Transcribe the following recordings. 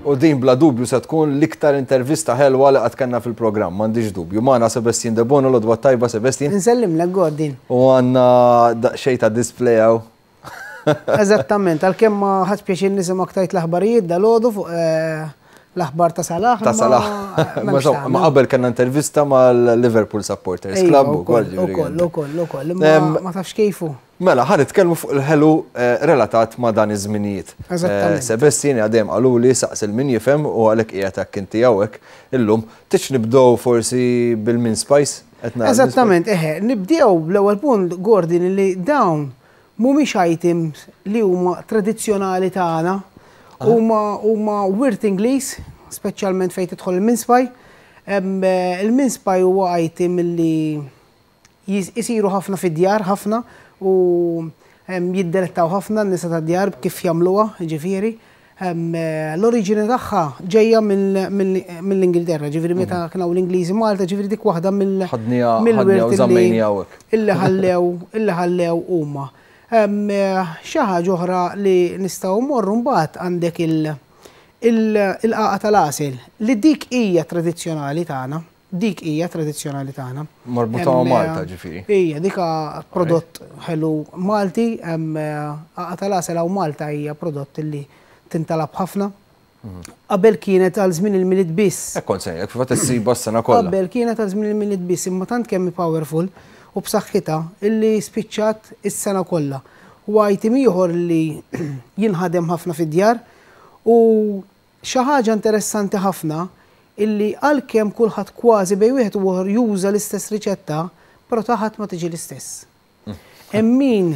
U din bla dubju se tkun l-iktar intervista ħelwa li qatt kellna fil-programm, m'għandix dubju. Magħna Sebastien Debono, l-għodwa t-tajba Sebastien. Insellimlek Gordon. U għandna daqsxejn ta' display hawn. Eżattament, għalkemm ma ħadx pjaċir nisimgħek tgħid l-aħbarijiet dalgħodu fuq l-aħbar ta' Salah. Ta' Salah. Ma qabel kellna intervista mal-Liverpool Supporters Club ukoll. Ukoll, ukoll, ukoll. Ma tafx kejfu. Mela, ħa nitkellmu fuq il-ħelu relatat ma' dan iż-żminijiet. Eżattament. Sebastien għadem qaluli saqsi 'l min jifhem u għalhekk qiegħed hekk inti hawnhekk illum. Tridx nibdew forsi bil-mince pies? Eżattament, eħe. Nibdew bl-ewwel punt, Gordon, li dawn mhumiex items li huma tradizzjonali tagħna. Huma huma wirt Ingliż, speċjalment fejn tidħol il-mince pie. Il-mince pie huwa item li Isiru ħafna fid-djar, ħafna, u jiddelettaw ħafna n-nisa tad-djar kif jagħmluha, jiġifieri. L-oriġini tagħha ġejja mill-Ingilterra, ġifieri meta kien hawn l-Ingliżi Malta, ġifieri dik waħda mill-wirt illi ħallew illi ħallew huma. Xi ħaġa oħra li nistgħu mmorru mbagħad għandek il-qagħqa tal-għasel li dik hija tradizzjonali tagħna. Dik hija tradizzjonali tagħna. Marbuta ma' Malta ġifieri. Hija, dik prodott ħelu Malti, għaqqa tal-għasel hawn Malta hija prodott li tintalab ħafna. Qabel kienet għal żmien il-Milied biss. Hekk kont se ngħidlek, fil-fatt issibha s-sena kollha. Qabel kienet għal żmien il-Milied biss, imma tant kemm hi powerful u b'saħħitha illi spiċċat is-sena kollha. U item ieħor li jinħadem ħafna fid-djar u Xi ħaġa interessanti ħafna illi għalkemm kulħadd kważi bejn wieħed u ieħor juża l-istess riċetta, però ta' ħadd ma tiġi l-istess. Hemm min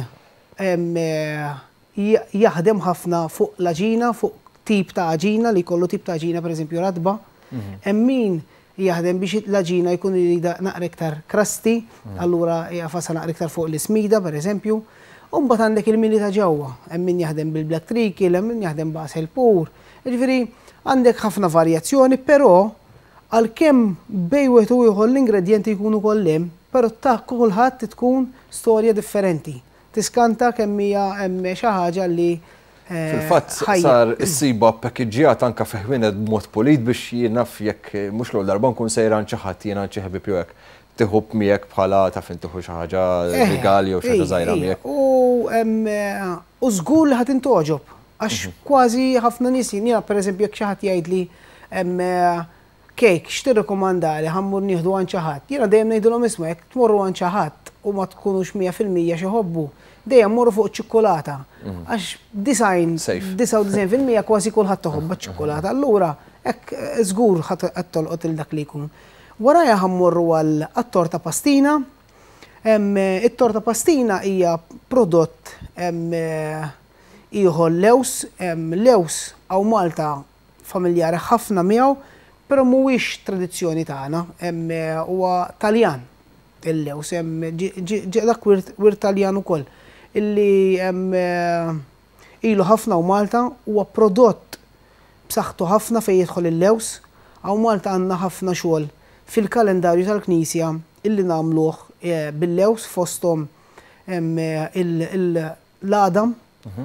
jaħdem ħafna fuq l-għaġina, fuq tip ta' għaġina li jkollu tip ta' għaġina pereżempju ratba. Hemm min jaħdem biex l-għaġina jkun iridha naqra iktar crusty, allura jagħfasha naqra iktar fuq l-ismida pereżempju. U mbagħad għandek il-mili ta' ġewwa, hemm min jaħdem bil-black treacle, hemm min jaħdem b'għasel pur. Jiġifieri għandek ħafna varjazzjoni, però għalkemm bejn wieħed u ieħor l-ingredjenti jkunu kollha hemm, però ta' kulħadd tkun storja differenti. Tiskanta kemm hija hemm xi ħaġa li Fil-fatt sar issibha ppakiġġjata anke fi ħwienet b'mod pulit biex jien naf jekk mhux l-ewwel darba nkun sejra għand xi ħadd jien għand xi ħbieb jew hekk tieħu miegħek bħala taf int tieħu xi ħaġa rigal jew xi ħaġa żgħira miegħek. U żgur li ħa tintgħoġob għax kważi ħafna nies jiena pereżempju jekk xi ħadd jgħidli Cake, x'tirrikomandali ħa mmur nieħdu għand xi ħadd? Jiena dejjem ngħidilhom isma' jekk tmorru għand xi ħadd u ma tkunux 100% x'iħobbu, dejjem morru fuq iċ-ċikkulata. Għax 90, 99% kważi kulħadd iħobbha ċ-ċikkulata. Allura hekk żgur ħa tolqot lil dak li jkun. Warajha ħa mmorru għat-torta pastina. It-torta pastina hija prodott ieħor lewż. Lewż hawn Malta familjari ħafna miegħu, però mhuwiex tradizzjoni tagħna, huwa Taljan il-lews, ġie dak wirt Taljan ukoll illi ilu ħafna hawn Malta, huwa prodott b'saħħtu ħafna fejn jidħol il-lews. Hawn Malta għandna ħafna xogħol fil-kalendarju tal-Knisja illi nagħmluh bil-lews fosthom l-għadam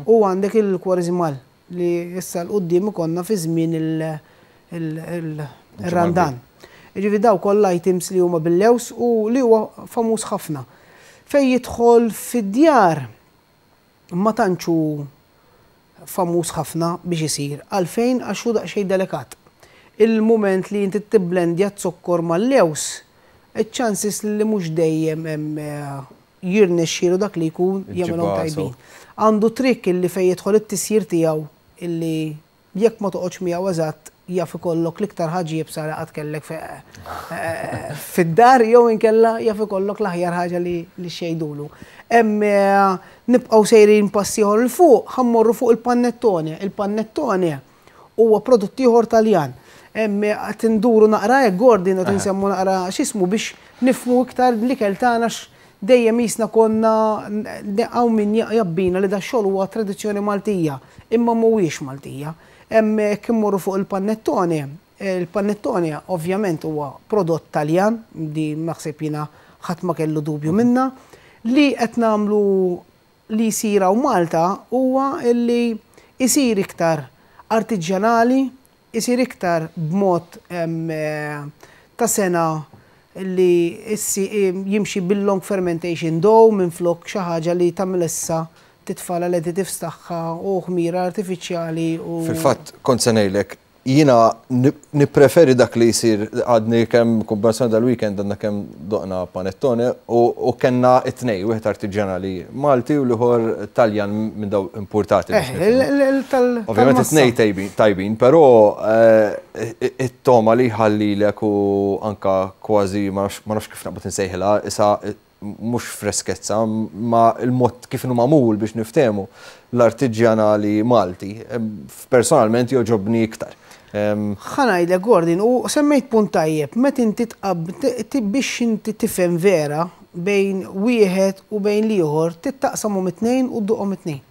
u għandek il-kwariżmal. Li issa 'l quddiem ikollna fi żmien ir-Randan. Jiġifieri dawk kollha items li huma bil-lewż u li huwa famuż ħafna. Fejn jidħol fid-djar ma tantx hu famuż ħafna biex isir. Għalfejn? Għax hu daqsxejn delikat. Il-mument li inti tibblendja z-zokkor mal-lewż, iċ-chances li mhux dejjem hemm jirnexxielu dak li jkun jagħmilhom tajbin. Għandu trick illi fejn jidħol it-tisjir tiegħu illi jekk ma toqgħodx miegħu eżatt jaf ikollok l-iktar ħaġa iebsa li qatt kellek fid-dar jew inkella jaf ikollok l-aħjar ħaġa li xejdulu. Hemm nibqgħu sejrin pass ieħor 'il fuq, ħa mmorru fuq il-panettone. Il-panettone huwa prodott ieħor Taljan. Qed induru naqra hekk Gordon qed insemmu naqra x'ismu biex nifhmu iktar l-ikel tagħna dejjem qisna konna hawn min jabbina li dax-xogħol huwa tradizzjoni Maltija, imma mhuwiex Maltija. Hemm jekk immorru fuq il-panettone, il-panettone ovvjament huwa prodott Taljan, di naħseb jiena ħadd ma kellu dubju minnha, li qed nagħmlu li jsir hawn Malta huwa li jsir iktar artiġjanali. Isir iktar b'mod ta' sena li jimxi bil-long fermentation dough minflok xi ħaġa li tagħmel issa titfa' l-additives tagħha u ħmira artifiċjali u. Fil-fatt kont se ngħidlek, jiena nippreferi dak li jsir. Għadni kemm kumbinazzjoni dal-weekend għandna kemm doqna panettone u kellna it-tnej, wieħed artiġjanali Malti u l-ieħor Taljan minn daw importati. Ovvjament it-tnej tajbin, però it-togħma li jħallilek u anka kważi ma nafx kif naqbad insejħilha, isa mhux freskezza, ma il-mod kif inhu magħmul biex niftehmu l-artiġjanali Malti, personalment jogħġobni iktar. Ħa ngħidlek, Gordon, u semmejt punt tajjeb, meta inti biex inti tifhem vera bejn wieħed u bejn l-ieħor, taqsamhom it-tnejn u dduqhom it-tnejn.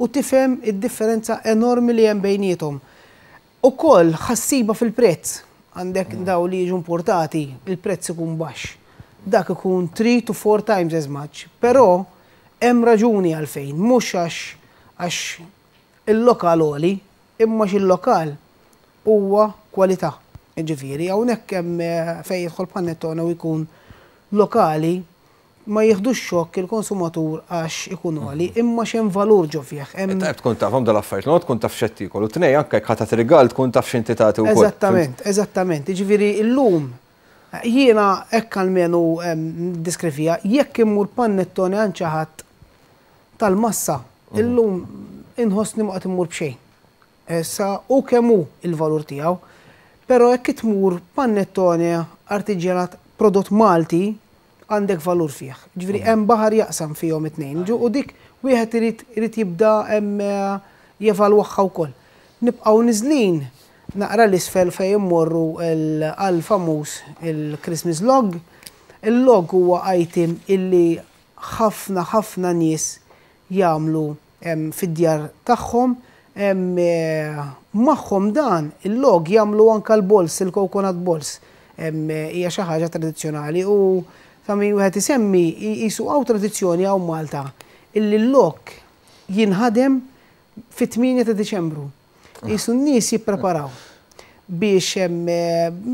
U tifhem id-differenza enormi li hemm bejniethom. Ukoll ħa ssibha fil-prezz. Għandek daw li jiġu importati, il-prezz ikun baxx. Dak ikun 3 to 4 times as much. Però hemm raġuni għalfejn, mhux għax il-lokal għoli, imma il-lokal huwa kwalità. Ġifieri, hawnhekk hemm fejn jidħol panettone u jkun lokali, ma jieħdux xokk il-konsumatur għax ikun għoli, imma x'hemm valur ġo fih. Tajb tkun tafhom dal-affarijiet, no tkun taf x'qed tiekol u tnej anke jekk ħa tagħti rigal tkun taf x'inti tagħti wkoll. Eżattament, eżattament. Ġifieri illum jiena hekk almenu diskrivija, jekk immur panettone għand xi ħadd tal-massa, illum inħossni ma qed immur b'xejn. Issa u kemm hu il-valur tiegħu, però jekk tmur panettone artiġjanat prodott Malti, għandek valur fih. Ġifieri hemm baħar jaqsam fihom it-tnejn. U dik wieħed irid jibda jevalwaha wkoll. Nibqgħu niżlin naqra l-isfel fejn immorru għal famuż il-Christmas log. Il-log huwa item illi ħafna ħafna nies jagħmlu fid-djar tagħhom. Magħhom dan il-log jagħmlu anka l-balls, il-coconut balls. Hija xi ħaġa tradizzjonali u ta' min wieħed isemmi jisu hawn tradizzjoni hawn Malta illi l-log jinħadem fit-8 ta' Diċembru. Jisu n-nies jippreparaw biex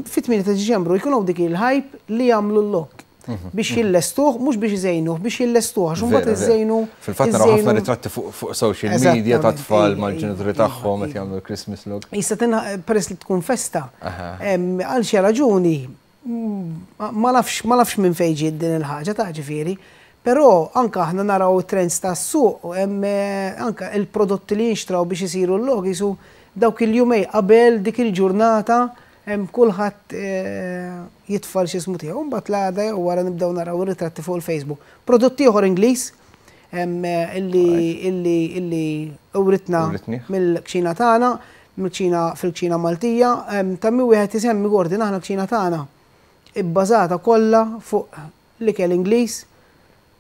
fit-8 ta' Diċembru jkun hawn dik il-hype li jagħmlu l-log biex jillestuh, mhux biex iżejnuh, biex jillestuh, għax imbagħad iżejnu. Fil-fatt naraw ħafna ritratti fuq social media ta' tfal mal-ġenituri tagħhom qed jagħmlu Christmas log. Issa peress li tkun festa, għal xi raġuni, ma nafx minn fejn ġiet din il-ħaġa ta' ġifieri, però anka aħna naraw trends tas-suq, anka il-prodotti li jinxtraw biex isiru l-log jisu dawk il-jumej qabel dik il-ġurnata hemm kulħadd jitfal xi ismu tiegħu. Mbagħad l-għada jew wara nibdew naraw ir-ritratti fuq il-Facebook. Prodott ieħor Ingliż illi uritna mill-kċina tagħna, mill-kċina fil-kċina Maltija, ta' min wieħed isemmi, Gordon, aħna l-kċina tagħna ibbażata kollha fuq l-ikel Ingliż,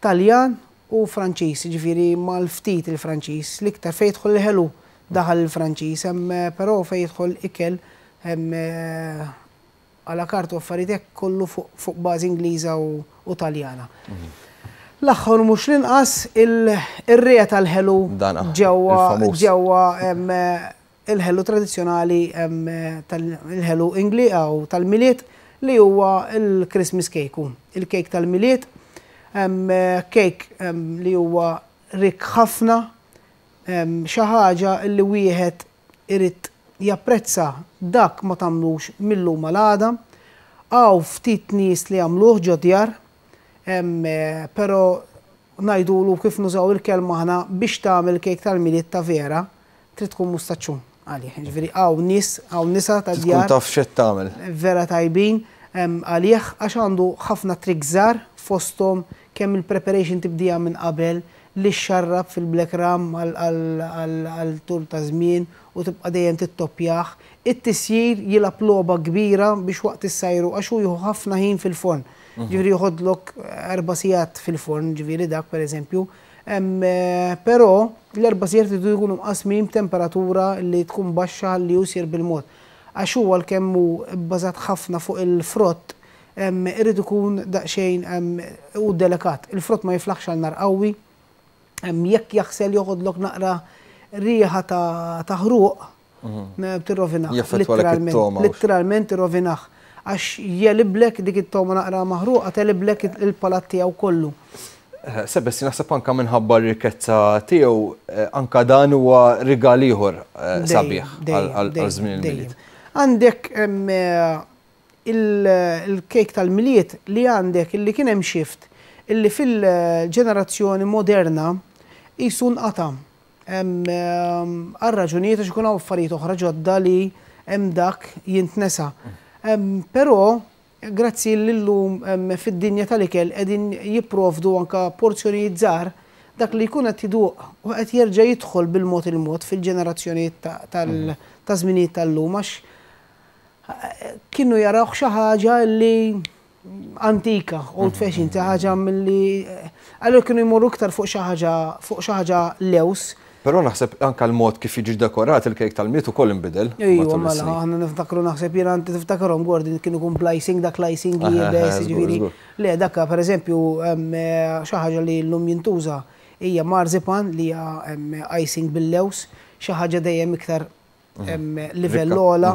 Taljan u Franċiż, ġifieri mal-ftit il-Franċiż, l-iktar fejn jidħol il-ħelu daħal il-Franċiż, hemm però fejn jidħol ikel à la carte u affarijiet hekk kollu fuq bażi Ingliża u Taljana. L-aħħar mhux l-inqas ir-re tal-ħelu ġewwa ġewwa il-ħelu tradizzjonali tal-ħelu Ingli u tal-Milied li huwa il-Christmas cake. Il-cake tal-Milied, cake li huwa rik ħafna, xi ħaġa li wieħed irid japprezza, dak ma tagħmlux mill-lum għal Hawn ftit nies li jagħmluh ġo djar, però ngħidulu kif nużaw il-kelma aħna, biex tagħmel kejk tal-Milied ta' vera, trid tkun mustaċċun għalih. Ġifieri hawn nies, hawn nisa ta' djar. Tkun taf x'qed tagħmel. Vera tajbin għalih għax għandu ħafna tricks żgħar, fosthom kemm il-preparation tibdija minn qabel li xarrab fil-black rum għal tul ta' żmien u tibqa' dejjem tittoppjah. It-tisjir jilgħab logħba kbira biex waqt issajru għax hu jieħu ħafna ħin fil-forn. Ġifieri joħodlok 4 sigħat fil-forn, ġifieri dak pereżempju. Però l-4 sigħat iridu jkunu mqasmin b'temperatura li tkun baxxa li hu jsir bil-mod. Għax huwa għalkemm hu bbażat ħafna fuq il-frott, irid ikun daqsxejn u delikat. Il-frott ma jiflaħx għal nar qawwi, jekk jaħsel joħodlok naqra riħa ta' ħruq. Tirrovinah. Jaffettwalek it-togħma. Litteralment tirrovinah. Għax jegħliblek dik it-togħma naqra maħruqa tegħliblek il-palat tiegħu kollu. Sebess naħseb anka minħabba r-rikkezza tiegħu anka dan huwa rigal ieħor sabiħ għal żmien il-Milied. Għandek il-kejk tal-Milied li għandek illi kien hemm shift illi fil-ġenerazzjoni moderna qisu nqata' għal raġunijiet għax ikun hawn affarijiet oħra ġodda li hemm dak jintnesa. Però grazzi li llum fid-dinja tal-ikel qegħdin jipprovdu anke porzjonijiet żgħar, dak li jkun qed iduq u qed jerġa' jidħol bil-mod il-mod fil-ġenerazzjonijiet ta' żminijiet tal-lum għax kienu jarawh xi ħaġa li antika, old fashion, xi ħaġa milli allura kienu jmorru iktar fuq xi ħaġa fuq xi ħaġa lews. Però naħseb anke l-mod kif jiġi dekorat il-kejk tal-Milied ukoll inbidel Ejwa, mela, aħna niftakru naħseb jiena inti tiftakarhom Gordon kien ikun bl-icing, dak l-icing iebes, jiġifieri. Le, dak pereżempju xi ħaġa li llum jintuża hija marzipan li hija icing bil-lewż, xi ħaġa dejjem iktar livell ogħla.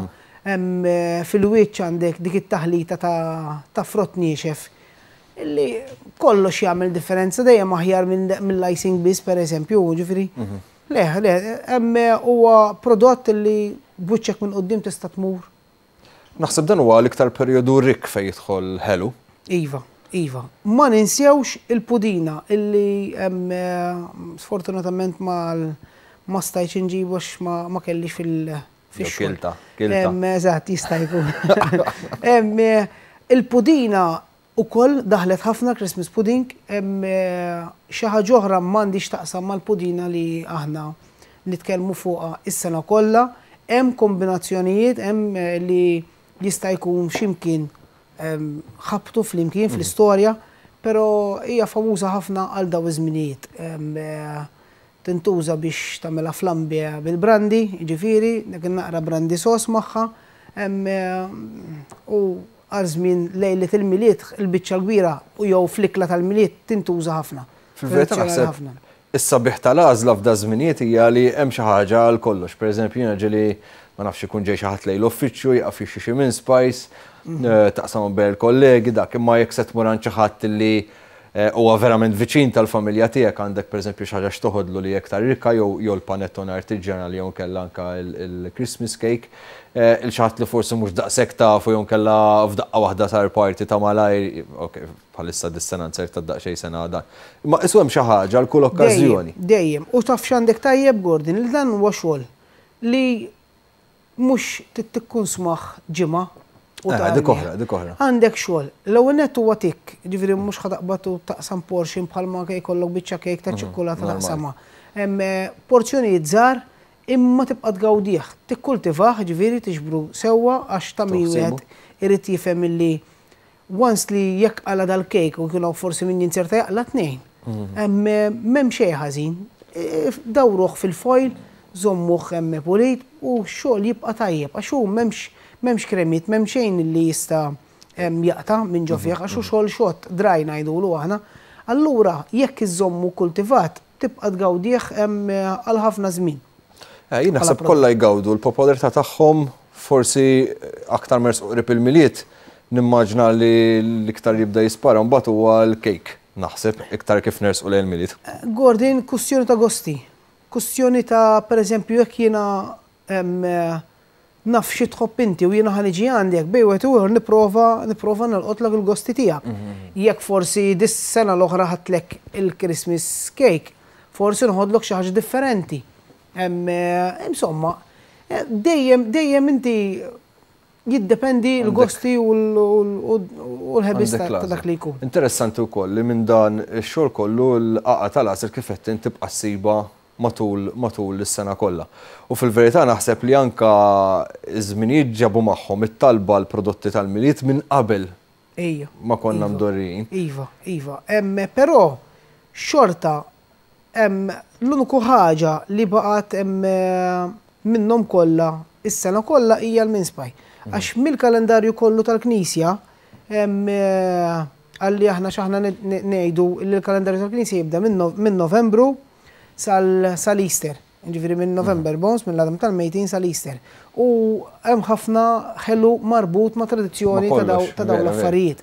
Fil-wiċċ għandek dik it-taħlita ta' frott niexef illi kollox jagħmel differenza dejjem aħjar mill-icing biss pereżempju, ġifieri. Le, le, hemm huwa prodott illi b'wiċċek minn quddiem tista' tmur. Naħseb dan huwa l-iktar perjodu rikk fejn jidħol ħelu. Iva, iva. Ma ninsewx il-pudina illi sfortunatament ma ma stajtx inġibu għax ma kellix fil-xogħol. Kilta, kilta. Eżatt, jista' jkun. Il-pudina Ukoll daħlet ħafna Christmas pudding, xi ħaġa oħra m'għandhiex x'taqsam mal-pudina li aħna nitkellmu fuqha s-sena kollha. Hemm kombinazzjonijiet, hemm li jista' jkun xi mkien ħabtu flimkien fl-istorja, però hija famuża ħafna għal dawn iż-żminijiet. Tintuża biex tagħmilha flambe bil-brandy, jiġifieri, dik in-naqra brandy sauce magħha, u għal żmien lejliet il-Milied il-biċċa l-kbira u jew fl-ikla tal-Milied tintuża ħafna. Fil-verità naħseb is-sabiħ tal-għażla f'daż-żminijiet hija li hemm xi ħaġa għal kollox. Pereżempju jiena ġieli ma nafx ikun ġej xi ħadd lejn l-uffiċċju jieqaf jixtri xi mince pies, taqsamhom bejn il-kollegi dak, imma jekk se tmur għand xi ħadd li huwa verament viċin tal-familja tiegħek, għandek pereżempju xi ħaġa x'toħodlu li hija iktar rikka jew jew l-panettone artiġjanali jew inkella anke l-Christmas cake, il xi ħadd li forsi mhux daqshekk tafu jew inkella f'daqqa waħda sar party ta' malajr, ok, bħalissa dis-sena nzerta daqsxejn sena dan. Imma qisu hemm xi ħaġa għal kull okkażjoni. Dejjem, dejjem. U taf x'għandek tajjeb Gordon, li dan huwa xogħol li Mhux trid tikkunsmah ġimgħa u tagħmel. Dik oħra, dik oħra. Għandek xogħol. L-ewwel nett huwa tikk, jiġifieri mhux ħa taqbad u taqsam portion bħalma jkollok biċċa kejk ta' ċikkulata taqsamha. Porzjonijiet żgħar imma tibqa' tgawdih. Tikkultivah, jiġifieri tiġbru sewwa għax ta' min wieħed irid jifhem illi Once li jekk qala' dal-kejk u jkun hawn forsi min jinzerta jaqla' tnejn. M'hemm xejn ħażin. Dawruh fil-foil, żommuh hemm pulit u x-xogħol jibqa' tajjeb għax hu m'hemmx m'hemmx kremiet, m'hemm xejn li jista' jaqta' minn ġo fih għax hu xogħol xott, dry ngħidulu aħna. Allura jekk iżżommu kultivat tibqa' tgawdih għal ħafna żmien. Jien naħseb kollha jgawdu l-popolarità tagħhom forsi aktar ma jersqu qrib il-Milied Nimmaġina li l-iktar jibda jispara mbagħad huwa l-kejk, naħseb, iktar kif nersqu lejn il-Milied. Gordon, kustjoni ta' gosti. Kustjoni ta' pereżempju jekk jiena naf xi tħobb inti u jiena ħa niġi għandek, bejn wieħed u ieħor nipprova nipprova nolqotlok il-gosti tiegħek. Jekk forsi dis-sena l-oħra ħadtlek il-Christmas cake, forsi noħodlok xi ħaġa differenti. Insomma, dejjem dejjem inti Jiddependi l-gosti u l-ħebis ta' dak li jkun. Interessanti wkoll li minn dan ix-xogħol kollu l-qagħqa tal-għasel kif għedt int tibqa' ssibha matul matul is-sena kollha. U fil-verità naħseb li anke ż-żminijiet ġabu magħhom it-talba għall-prodotti tal-Milied minn qabel ma konna mdorrijin. Iva, iva. Però xorta L-uniku ħaġa li baqgħet minnhom kollha is-sena kollha hija l-mince pie. Għax mill-kalendarju kollu tal-Knisja, għalli aħna x'aħna ngħidu li l-kalendarju tal-Knisja jibda minn Novembru sal-Easter. Ġifieri minn November Bones, minn l-għadam tal-mejtin sal-Easter. U hemm ħafna ħelu marbut ma' tradizzjoni ta' dawn l-affarijiet.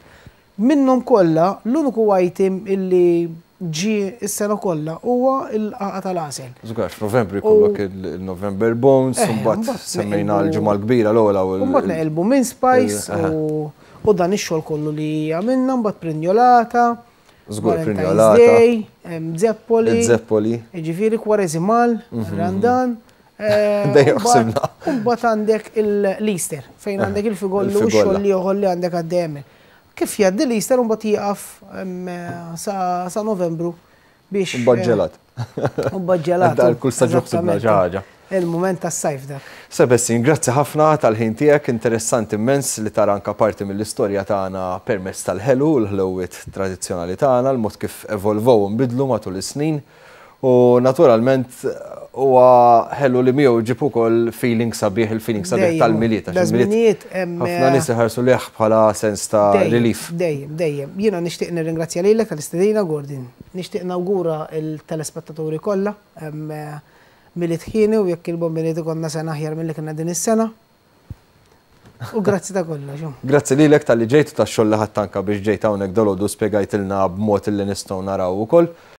Minnhom kollha, l-uniku item illi ġie s-sena kollha huwa l-qagħqa tal-għasel. Żgur, f'Novembru jkollok il-November Bones, u mbagħad semmejna l-Ġimgħa l-Kbira l-ogħla u mbagħad neqilbu mince pies u dan ix-xogħol kollu li għamilna, mbagħad prinjolata. Żgur, prinjolata. Day, zeppoli. Zeppoli. Ġifieri kwareżimal, randan. Dejjem ħsibna. U mbagħad għandek l-Easter, fejn għandek il-figollu u x-xogħol ieħor li għandek għaddejjem. Kif jgħaddi l-Easter mbagħad jieqaf sa Novembru biex. Mbagħad ġelat. Mbagħad ġelat. Dal kull staġun ħsibna xi ħaġa. Il-mument tas-sajf dak. Sebestin, grazzi ħafna tal-ħin tiegħek, interessanti immens li tara anka parti mill-istorja tagħna permezz tal-ħelu u l-ħlewwiet tradizzjonali tagħna, l-mod kif evolvow u nbidlu matul is-snin. U naturalment huwa ħelu li miegħu ġib ukoll feeling sabiħ, il-feeling sabiħ tal-Milied. Għax il-Milied ħafna nies iħarsu lejh bħala sens ta' relief. Dejjem, dejjem. Jiena nixtieq nirringrazzja lilek tal-istedina, Gordon. Nixtieq nawgura l-telespettaturi kollha Milied ħieni u jekk il-Bambiniet ikollna sena aħjar milli kellna din is-sena. U grazzi ta' kollox. Grazzi lilek talli ġejt u tax-xogħol li ħadt anke biex ġejt hawnhekk dalgħodu spjegajtilna b'mod li nistgħu naraw ukoll.